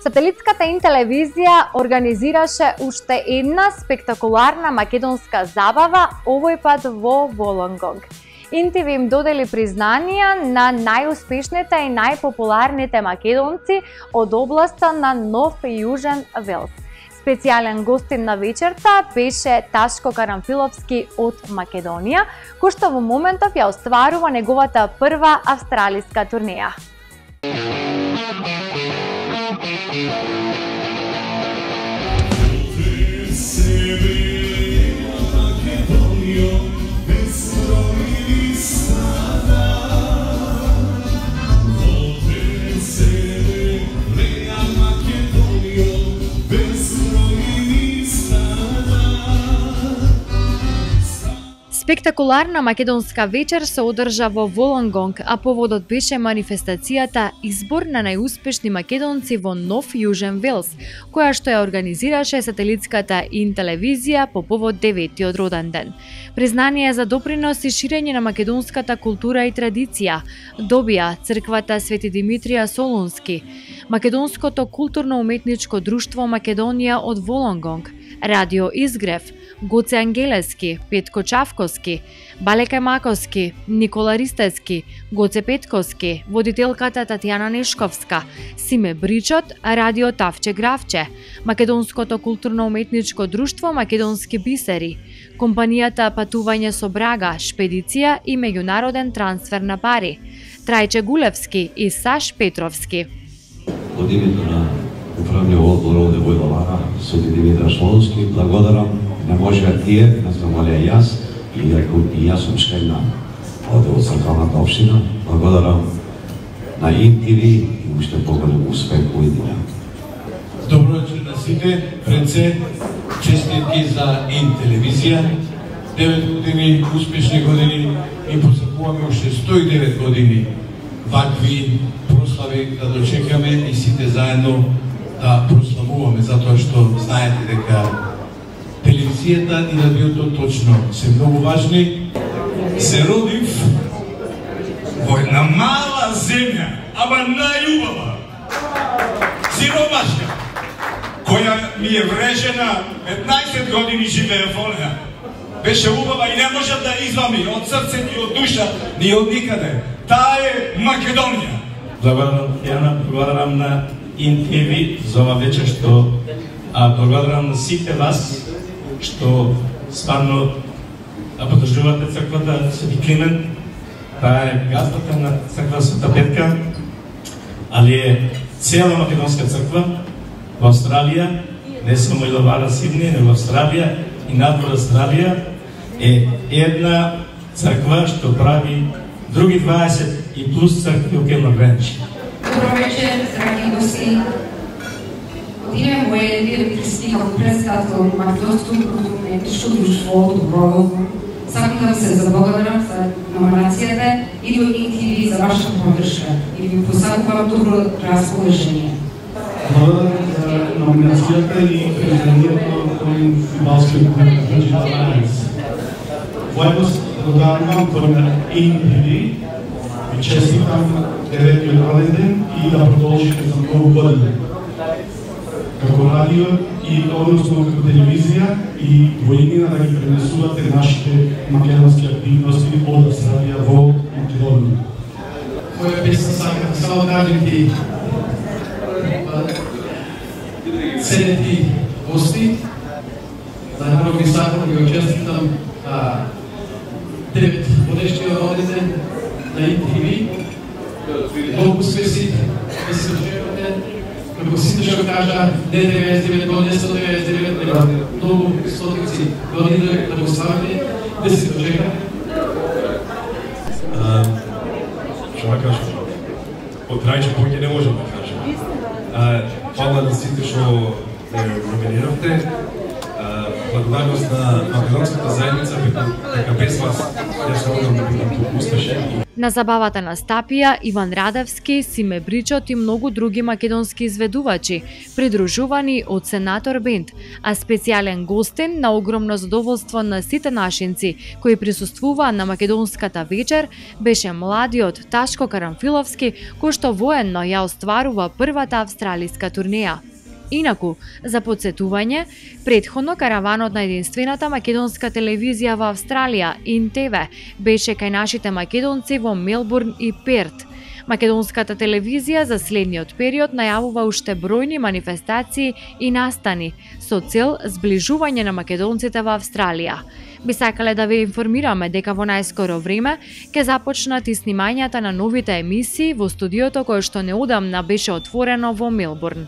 Сателитската Ин-телевизија организираше уште една спектакуларна македонска забава, овој пат во Волонгонг. ИН-ТВ им додели признанија на најуспешните и најпопуларните македонци од областа на Нов Јужен Велс. Специјален гостин на вечерта беше Ташко Карамфиловски од Македонија, кој што во моментов ја остварува неговата прва австралиска турнеја. Спектакуларна македонска вечер се одржа во Волонгонг, а поводот беше манифестацијата Избор на најуспешни македонци во Нов Јужен Велс, која што ја организираше сателитската Ин-телевизија по повод 9-тиот роден ден. Признание за допринос и ширење на македонската култура и традиција добија црквата Свети Димитрија Солунски, Македонското културно-уметничко друштво Македонија од Волонгонг, Радио Изгрев, Гоце Ангелески, Петко Чавковски, Балека Маковски, Никола Ристески, Гоце Петковски, водителката Татјана Нешковска, Симе Бричот, Радио Тавче Гравче, Македонското културно-уметничко друштво Македонски бисери, компанијата Патување со Брага, Шпедиција и меѓународен трансфер на пари, Трајче Гулевски и Саш Петровски. Од името на управниот одбор овде во Лара, Свети Димитар Солунски, благодарам. Не можеа тие, не замолеа јас, и јас сум член од црквената општина. Благодарам на ИН-ТВ и уште поголем успех во идеја. Добро вечер на сите, пред се честитки за Ин-телевизија. 9 години, успешни години и посакуваме уште 109 години вакви прослави да дочекаме и сите заедно да прославуваме, затоа што знаете дека телевизијата и радиото точно се многу важни. Се родив во една мала земја, ама најубава, сиромашка, која ми е врежена, 15 години живея во неа. Беше убава и не можам да извами од срцето и од душа, ни од никаде. Таа е Македонија. Благодарам на ИН-ТВ за ова вечер што благодарам на сите вас што стварно поддржувате црквата Свети Климент. Таа е газдата на црква Света Петка, али е цела македонска црква во Австралија, не само и Лавара, Сидни, но во Австралија и надвор Австралија е една црква што прави други 20 и плюс цркви околу граници. Добро вечер, драги гости. Од име моје директриски како председател на Македонското културно-уметничко друштво од Волонгонг, сакам да се заблагодарам за номинацијата и до ИН-ТВ за вашата поддршка и ви посакувам добро расположение. Благодарам за номинацијата и признанието кој фудбалски Digital Alliance. Војно благодарам на ИН-ТВ и честитам 9-тиот роден ден и да продолжите за многу години. Како радио и односно како телевизија и во иднина да ги пренесувате нашите македонски активности од Австралија во Македонија. Моја песна сакам само да кажем ти ценети гости, најпрво ви сакам да го честитам 9 годишниот роден ден на ИН-ТВ. Многу успеси да се очекувате. Како сите што кажа, не 99 години, 199 години, многу стотици години да го ставите, да се очека. Што да кажам? Од Трајче повеќе не можам да кажам. Фала на сите што ме номиниравте. благодарност на македонската заедница, дека без вас јас не можам да бидам успешен. На забавата настапија Иван Радевски, Симе Бричот и многу други македонски изведувачи, придружувани од Сенатор Бенд, а специјален гостин на огромно задоволство на сите нашинци кои присуствуваа на македонската вечер беше младиот Ташко Карамфиловски, кој што военно ја остварува првата австралиска турнеја. Инаку, за подсетување, претходно караванот на единствената македонска телевизија во Австралија, ИН-ТВ, беше кај нашите македонци во Мелбурн и Перт. Македонската телевизија за следниот период најавува уште бројни манифестации и настани со цел зближување на македонците во Австралија. Би сакале да ве информираме дека во најскоро време ќе започнат и снимањата на новите емисии во студиото кое што неодамна беше отворено во Мелбурн.